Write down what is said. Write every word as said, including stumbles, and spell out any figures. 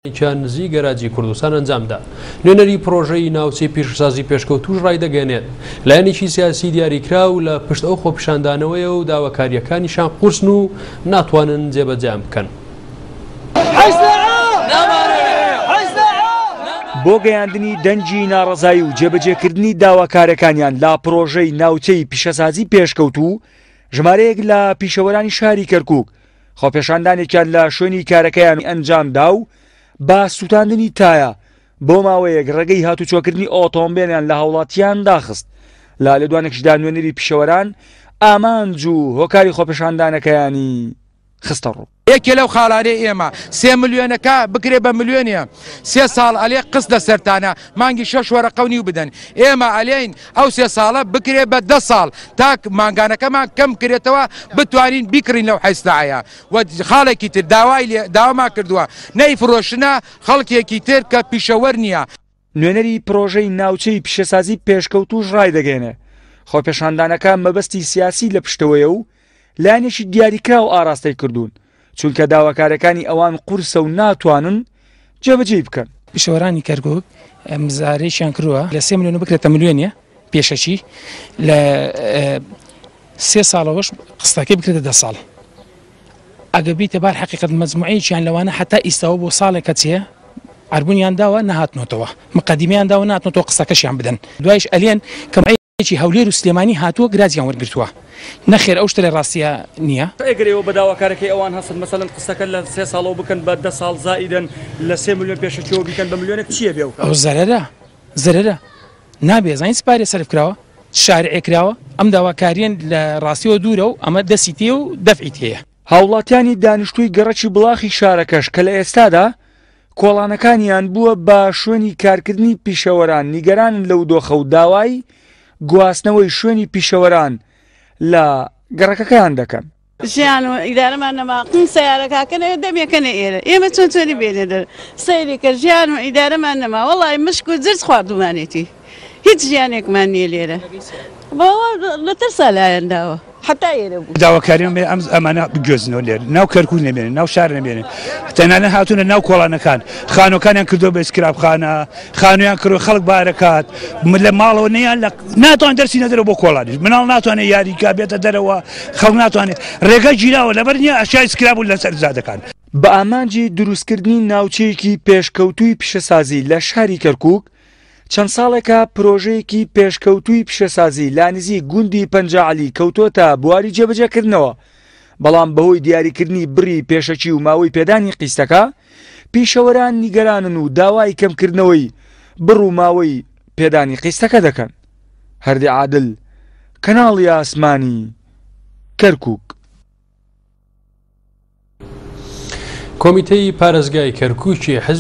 خۆپیشاندانێکیان نزیک گەراجی کوردستان ئەنجامدا. نوێنەری پرۆژەی ناوچەی پیشەسازی پێشکەوتوش ڕایدەگەێنێت لایەنێکی سیاسی دیاریکراو لە پشت ئەو خۆپیشاندانەوەیە و داواکاریەکانیشان قورسن و ناتوانن جێبەجێیان بکەن. بۆ گەیاندنی دەنگی ناڕەزایی و جێبەجێکردنی داواکارەکانیان لە پرۆژەی ناوچەی پیشەسازی پێشکەوتوو، ژمارەیەک لە پیشەوەرانی شاری کەرکوک خۆپێشاندانێکیان لە شوێنی کارەکەیان ئەنجامدا و با سووتاندنی تایە بۆ ماوەیەک ڕێگەی هاتوچۆکردنی ئۆتۆمبیلیان لە هاوڵاتیان داخست. لە لێدوانێکیشدا نوێنەری پیشەوەران ئامانج و هۆکاری خۆپێشاندانەکەیانی خستە ڕوو. یەکێ لەو خاڵانەی ئێمە سێ ملیۆنەکە بکرێ بە ملیۆنیە، سێ ساڵ ئەلێ قست لەسەرتانە مانگی شەش وەرەقە و نیو بدەن. ئێمە ئەلێین ئەو سێ ساڵە بکرێ بە دە ساڵ تا مانگانەکەمان کەم کرێتەوە بتوانین بیکڕین لەو حەیسلایە. و خاڵێکی تر داوای داوامان کردووە نەیفرۆشنە خەڵکێکی تر کە پیشەوەر نییە. نوێنەری پرۆژەی ناوچەی پیشەسازی پێشکەوتوش ڕایدەگەێنێ خۆپێشاندانەکە مەبەستی سیاسی لە پشتەوەیە و لایەنێکی دیاریکراو ئاراستەی کردوون، چونکە داواکارەکانی ئەوان قورسە و ناتوانن جێبەجێی بکەن. پیشەوەرانی کەرکوک مزارێکیان کردووە لە سێ ملیۆن بکرێتە ملیۆنیە پێشەکی، لە سێ ساڵەوەش قستەکەی بکرێتە دە ساڵ. ئەگە بیتە بار حەقیقەت مەجموعەیەکیان لەوانە حتا ئیستاوە بۆ ساڵێکە چێ عەربونیان داوە نەهاتنۆتەوە، مقدمیان داوە نهاتنۆتەوە قسەکەشیان بدەن. دوایش ئەلێن کە هەولێر و سلێمانی هاتووە گرازیان وەرگرتووە. نەخێر ئەو شتە لە ڕاستیە نییە. ئەگەر ئێوە بە داواکارەکەی ئەوان هەستن مەسەلەن قسەکە لە سێ ساڵەوە بکەن بە دە ساڵ زائیدەن لە سێ ملیۆن پێشەکیەوە بیکەن بە ملیۆنێک چییە بێ؟ ئەو زەرەرە زەرەرە نابێ. زانین سپارێ سەرف کراوە، شارعێ کراوە، ئەم داواکاریان لە ڕاستیەوە دوورە و ئەمە دەستی تێ و دەفعی تێیە. هاوڵاتیانی دانیشتووی گەڕەکی بڵاخی شارەکەش کە لە ئێستادا کۆڵانەکانیان بووە بە شوێنی کارکردنی پیشەوەران نیگەرانن لەو دۆخە و داوای گواستنەوەی شوێنی پیشەوەران لە گەڕەکەکەیان دەکەن. ژیان و ئیدارەمان نەما، قن سیارەکەکەنەوە دەمێکەنە ئێرە، ئێمە چۆن چۆنی بێنێ دەر سەیرێکە ژیان و ئیدارەمان نەما. وەڵای مشک و جرج خواردومانێتی، هیچ ژیانێکمان نییە لێرە، لە ترسا لایەن داوە حتا ئێرە بوو. داواکاریان بێ ئەم ئەمانە بگوێزنەوە لێرە، ناو کەرکوک نەمێنێ، ناو شار نەمێنێ، تەنانەت هاتوونە ناو کۆڵانەکان، خانووەکانیان کردووە بە ئیسکرابخانە، خانوویان کردووە خەڵک بارەکات لە ماڵەوە نیان ناتوان دەرسی نەدەرەوە بۆ کۆڵانیش، مناڵ ناتوانێت یاریکا بێتە دەرەوە، خەڵک ناتوانێت، ڕێگە گیراوە لەبەر نییە ئەشیای ئیسکراب بوون لەسەر جادەکان. بە ئامانجی دروستکردنی ناوچەیەکی پێشکەوتووی پیشەسازی لە شاری کەرکوک، چەند ساڵێکە پرۆژەیەکی پێشکەوتووی پیشەسازی لە نزیک گوندی پەنجاعەلی کەوتۆتە بواری جێبەجێکردنەوە، بەڵام بەهۆی دیاریکردنی بڕی پێشەکی و ماوەی پێدانی قیستەکە پیشەوەران نیگەرانن و داوای کەمکردنەوەی بڕ و ماوەی پێدانی قیستەکە دەکەن. هەردی عادل، کەناڵی ئاسمانی، کەرکوک. کۆمیتەی پارێزگای کەرکوکی حزب